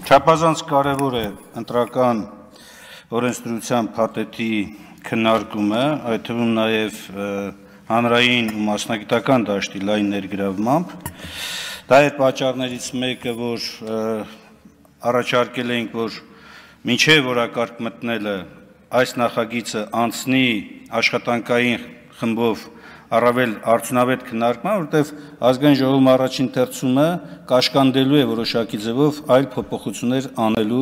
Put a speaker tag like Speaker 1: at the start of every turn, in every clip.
Speaker 1: Չափազանց կարևոր է ընտրական օրենսդրության փաթեթի քննարկումը, այդ թվում նաև հանրային ու մասնագիտական դաշտի լայն ներգրավմամբ։ Դա է պատճառներից մեկը, որ առաջարկել էինք, որ մինչև օրակարգ մտնելը այս նախագիծը անցնի աշխատանքային խմբով առավել արդյունավետ քննարկման, որտեղ ազգային ժողովի առաջին թերցումը կաշկանդելու է որոշակի ձևով այլ փոփոխություններ անելու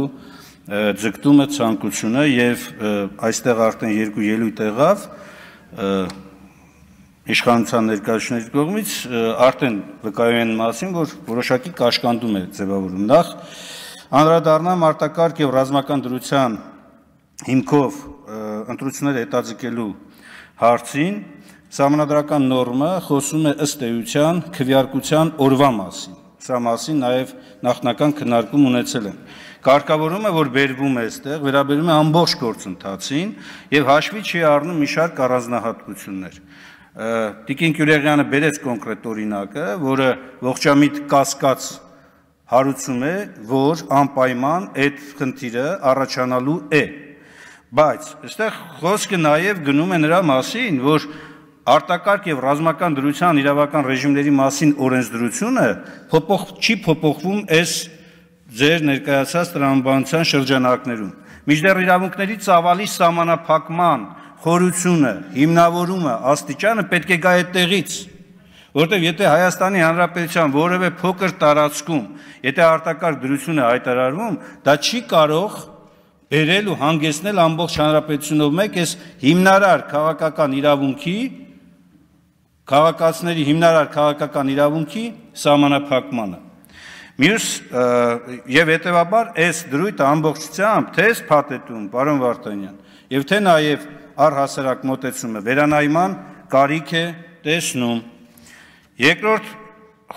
Speaker 1: ձգտումը, ցանկությունը եւ այստեղ արդեն երկու ելույթ եղավ իշխանության ներկայացուցիչների կողմից արդեն վկայում են մասին, որ որոշակի կաշկանդում է ձևավորում։ Նախ անդրադառնամ արտակարգ եւ ռազմական դրության հիմքով ընտրությունները հետաձգելու հարցին։ Սահմանադրական նորմը խոսում է ըստ էության քվեարկության օրվա մասին։ Սա մասին նաև նախնական քննարկում ունեցել են։ Կարգավորումը, որ բերվում է այստեղ, վերաբերում է ամբողջ գործընթացին եւ հաշվի չի առնում մի շարք առանձնահատկություններ։ Տիկին Գյուլիանը բերեց կոնկրետ օրինակը, որը ողջամիտ կասկած հարուցում է, որ անպայման այդ խնդիրը առաջանալու է։ Բայց այստեղ խոսքը նաև գնում է նրա մասին, որ արտակարգ եւ ռազմական դրության իրավական ռեժիմների մասին օրենսդրությունը չի փոփոխվում այս ձեր ներկայացած տրամաբանության շրջանակներում։ Մինչդեռ իրավունքների ծավալի սահմանափակման խորությունը, հիմնավորումը, աստիճանը պետք է գա այդտեղից, որտեղ եթե Հայաստանի Հանրապետության որևէ փոքր տարածքում, եթե արտակարգ դրություն է հայտարարվում, դա չի կարող բերել ու հանգեցնել ամբողջ հանրապետությունով մեկ այս հիմնարար քաղաքական իրավունքի քաղաքացիների հիմնարար քաղաքական իրավունքի սահմանափակմանը։ Մյուս եւ հետեւաբար այս դրույթը ամբողջությամբ թե փաթեթում, պարոն Վարդանյան, եւ թե նաեւ առհասարակ մոտեցումը վերանայման կարիք է տեսնում։ Երկրորդ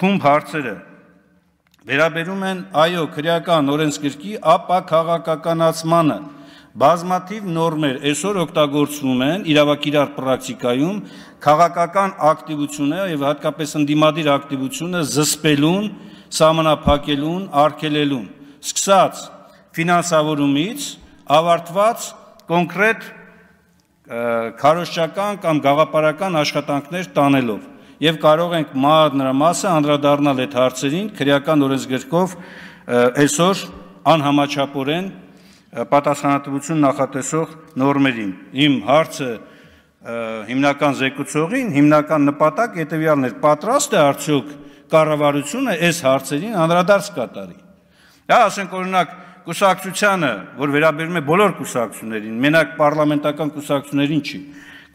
Speaker 1: խումբ հարցերը վերաբերում են այո քրեական օրենսգրքի ապաքաղաքականացմանը։ Բազմաթիվ նորմեր այսօր օգտագործվում են իրավակիրառ պրակտիկայում քաղաքական ակտիվությունը եւ հատկապես ընդդիմադիր ակտիվությունը զսպելուն, սահմանափակելուն, արգելելուն, սկսած ֆինանսավորումից ավարտված կոնկրետ քարոզչական կամ գաղափարական աշխատանքներ տանելով եւ կարող ենք մանրամասը անդրադառնալ այդ հարցերին քրեական օրենսգրքով այսօր անհամաչափորեն պատասխանատվություն նախատեսող նորմերին։ Իմ հարցը հիմնական զեկուցողին, հիմնական նպատակ հետևյալն էր, պատրաստ է արդյոք կառավարությունը այս հարցերին անդրադարձ կատարի։ Դա ասենք օրինակ կուսակցությանը, որ վերաբերում է բոլոր կուսակցություններին, մենակ պարլամենտական կուսակցություններին չի,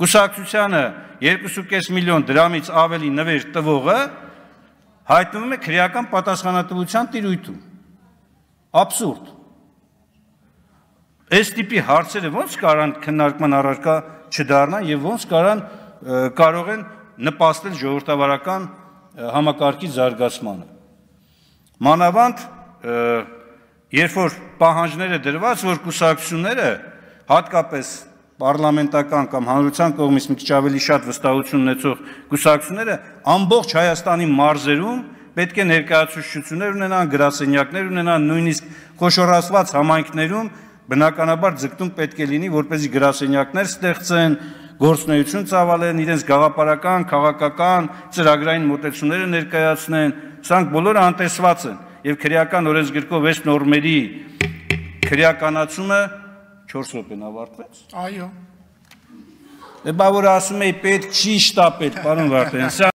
Speaker 1: կուսակցությանը 2.5 միլիոն դրամից ավելի նվեր տվողը հայտնվում է քրեական պատասխանատվության տիրույթում։ Աբսուրդ։ Այս տիպի հարցերը ոնց կարան քննարկման առարկա չդառնան եւ ոնց կարող են նպաստել ժողովրդավարական համակարգի զարգացմանը։ Մանավանդ երբ որ պահանջները դրված, որ կուսակցությունները հատկապես պարլամենտական կամ հանրության կողմից մի քիչ ավելի շատ վստահություն ունեցող կուսակցությունները ամբողջ Հայաստանի մարզերում պետք է ներկայացուցչություններ ունենան, գրասենյակներ ունենան, նույնիսկ խոշորացված համայնքներում բնականաբար ձգտում պետք է լինի, որպեսզի գրասենյակներ ստեղծեն, գործունեություն ծավալեն, իրենց գաղափարական, քաղաքական, ծրագրային մոտեցումները ներկայացնեն, սրանք բոլորը անտեսված են եւ քրեական օրենսգրքով այս նորմերի քրեականացումը 4 րոպեն ավարտվեց։
Speaker 2: Այո։
Speaker 1: Դե բա որ ասում էի պետք չի շտապել, պարոն Վարդանյան,